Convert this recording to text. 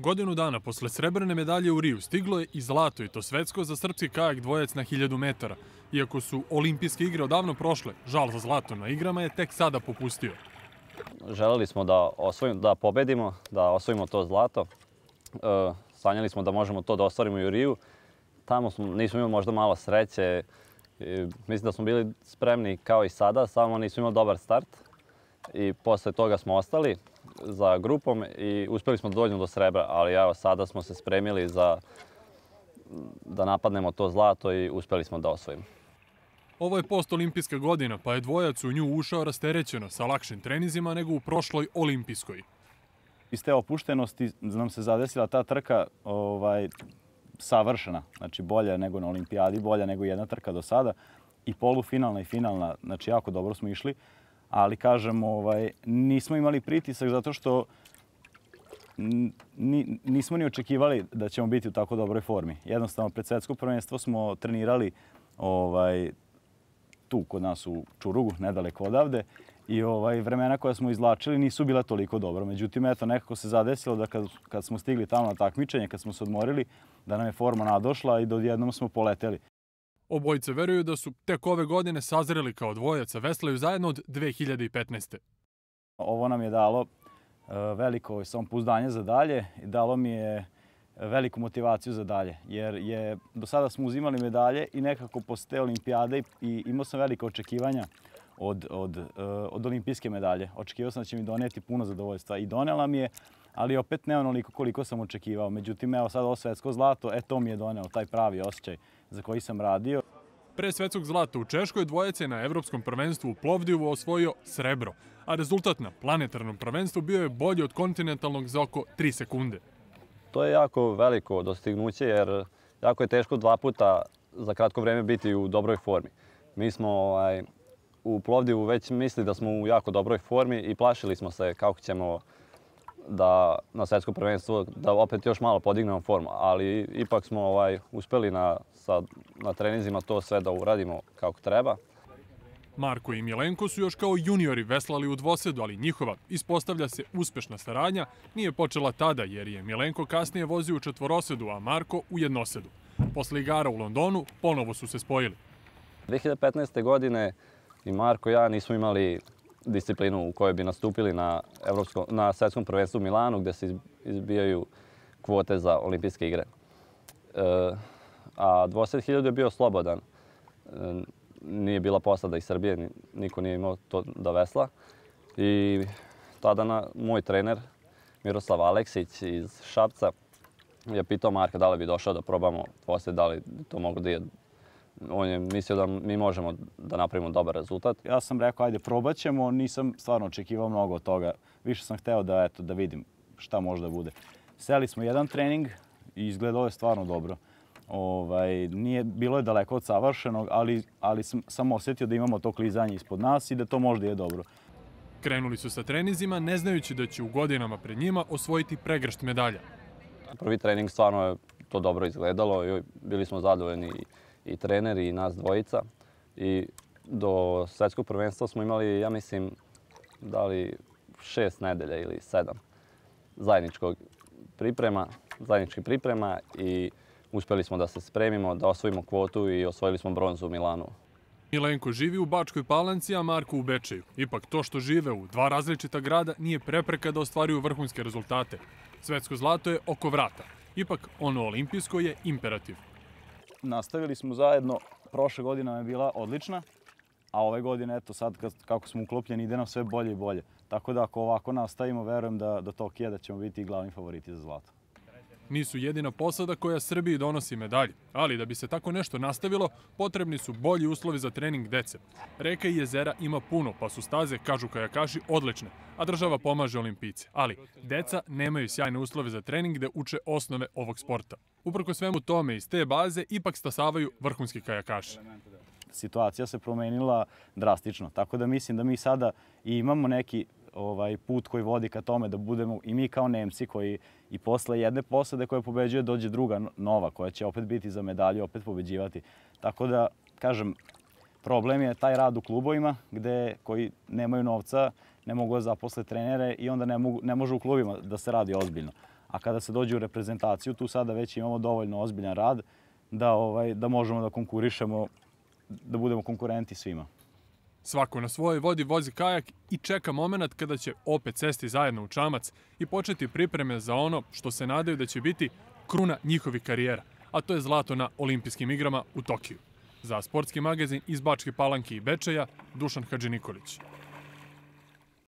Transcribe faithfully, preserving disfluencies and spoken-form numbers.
Godinu dana posle srebrne medalje u Riju stiglo je i zlato, i to svetsko, za srpski kajak dvojac na hiljadu metara. Iako su olimpijske igre odavno prošle, žal za zlato na igrama je tek sada popustio. Želeli smo da, osvojimo, da pobedimo, da osvojimo to zlato. E, sanjali smo da možemo to da ostvarimo i u Riju. Tamo smo, nismo imali možda malo sreće. E, mislim da smo bili spremni kao i sada, samo nismo imali dobar start. I posle toga smo ostali za grupom i uspjeli smo da dođemo do srebra, ali evo sada smo se spremili za da napadnemo to zlato i uspjeli smo da osvojimo. Ovo je postolimpijska godina, pa je dvojac u nju ušao rasterećeno sa lakšim trenizima nego u prošloj olimpijskoj. Iz te opuštenosti nam se zadesila ta trka ovaj, savršena, znači bolja nego na olimpijadi, bolja nego jedna trka do sada. I polufinalna i finalna, znači jako dobro smo išli. Ali kažem, ovaj, nismo imali pritisak zato što ni, nismo ni očekivali da ćemo biti u tako dobroj formi. Jednostavno, pred svetsko prvenstvo smo trenirali ovaj, tu kod nas u Čurugu, nedaleko odavde. I ovaj, vremena koja smo izvlačili nisu bila toliko dobro. Međutim, eto, nekako se zadesilo da kad, kad smo stigli tamo na takmičenje, kad smo se odmorili, da nam je forma nadošla i da odjednom smo poleteli. Obojice veruju da su tek ove godine sazreli kao dvojac, a veslaju zajedno od dve hiljade petnaeste. Ovo nam je dalo veliko samopouzdanje za dalje i dalo mi je veliku motivaciju za dalje. Jer je, do sada smo uzimali medalje i nekako posle te olimpijade i imao sam velike očekivanja od, od, od olimpijske medalje. Očekivao sam da će mi doneti puno zadovoljstva i donela mi je, ali opet ne onoliko koliko sam očekivao. Međutim, evo sad ovo svetsko zlato, e to mi je doneo taj pravi osjećaj za koji sam radio. Pre svetskog zlata u Češkoj dvojac je na Evropskom prvenstvu u Plovdivu osvojio srebro, a rezultat na planetarnom prvenstvu bio je bolji od kontinentalnog za oko tri sekunde. To je jako veliko dostignuće jer jako je teško dva puta za kratko vreme biti u dobroj formi. Mi smo ovaj, u Plovdivu već mislili da smo u jako dobroj formi i plašili smo se kako ćemo da na svjetsko prvenstvo da opet još malo podignemo formu, ali ipak smo ovaj, uspjeli na, sa, na treninzima to sve da uradimo kako treba. Marko i Milenko su još kao juniori veslali u dvosedu, ali njihova, ispostavlja se, uspešna saradnja nije počela tada jer je Milenko kasnije vozio u četvorosedu, a Marko u jednosedu. Posle igara u Londonu ponovo su se spojili. dve hiljade petnaeste. godine i Marko i ja nismo imali disciplinu u kojoj bi nastupili na, Evropskom, na svjetskom prvenstvu u Milanu gdje se izbijaju kvote za olimpijske igre. E, a dvoset hiljada je bio slobodan. E, nije bila posada iz Srbije, niko nije imao to da vesla. I tada na, moj trener Miroslav Aleksić iz Šapca je pitao Marka da li bi došao da probamo dvoset, da li to mogu da je. On je mislio da mi možemo da napravimo dobar rezultat. Ja sam rekao, ajde, probat ćemo. Nisam stvarno očekivao mnogo od toga. Više sam hteo da, eto, da vidim šta može da bude. Seli smo jedan trening i izgledalo je stvarno dobro. Ovaj, nije, bilo je daleko od savršenog, ali, ali sam, sam osjetio da imamo to klizanje ispod nas i da to možda je dobro. Krenuli su sa treninzima, ne znajući da će u godinama pred njima osvojiti pregršt medalja. Prvi trening stvarno je to dobro izgledalo i bili smo zadovoljni i treneri i nas dvojica. I do svjetskog prvenstva smo imali, ja mislim, da li šest nedelja ili sedam zajedničkog priprema, zajedničkih priprema i uspjeli smo da se spremimo, da osvojimo kvotu i osvojili smo bronzu u Milanu. Milenko živi u Bačkoj Palanci, a Marko u Bečeju. Ipak to što žive u dva različita grada nije prepreka da ostvaruju vrhunske rezultate. Svetsko zlato je oko vrata. Ipak ono olimpijsko je imperativ. Nastavili smo zajedno, prošle godina je bila odlična, a ove godine, eto sad kako smo uklopljeni, ide nam sve bolje i bolje. Tako da ako ovako nastavimo, verujem da do Tokija da ćemo biti glavni favoriti za zlato. Nisu jedina posada koja Srbiji donosi medalje, ali da bi se tako nešto nastavilo, potrebni su bolji uslovi za trening dece. Reka i jezera ima puno, pa su staze, kažu kajakaši, odlične, a država pomaže olimpijce. Ali deca nemaju sjajne uslove za trening gde uče osnove ovog sporta. Uprko svemu tome, iz te baze ipak stasavaju vrhunski kajakaši. Situacija se promenila drastično, tako da mislim da mi sada i imamo neki ovaj put koji vodi ka tome da budemo i mi kao Nemci koji i posle jedne posade koja pobeđuje dođe druga nova koja će opet biti za medalju, opet pobeđivati. Tako da, kažem, problem je taj rad u klubovima gde koji nemaju novca, ne mogu da zaposle trenere i onda ne, mogu, ne može u klubima da se radi ozbiljno. A kada se dođe u reprezentaciju, tu sada već imamo dovoljno ozbiljan rad da, ovaj, da možemo da konkurišemo, da budemo konkurenti svima. Svako na svojoj vodi vozi kajak i čeka moment kada će opet sesti zajedno u čamac i početi pripreme za ono što se nadaju da će biti kruna njihovih karijera, a to je zlato na olimpijskim igrama u Tokiju. Za sportski magazin iz Bačke Palanke i Bečeja, Dušan Hadžinikolić.